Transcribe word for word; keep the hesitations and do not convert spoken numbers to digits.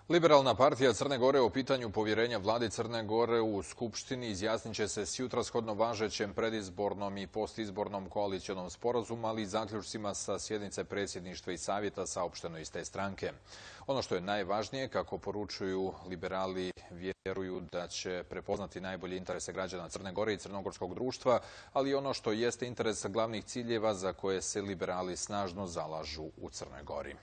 Liberalna partija Crne Gore o pitanju povjerenja vladi Crne Gore u Skupštini izjasnit će se sjutra shodno važećem predizbornom i postizbornom koalicionom sporazumu, ali i zaključcima sa sjednice predsjedništva i savjeta saopšteno iz te stranke. Ono što je najvažnije, kako poručuju liberali, vjeruju da će prepoznati najbolje interese građana Crne Gore i crnogorskog društva, ali i ono što jeste interes glavnih ciljeva za koje se liberali snažno zalažu u Crnoj Gori.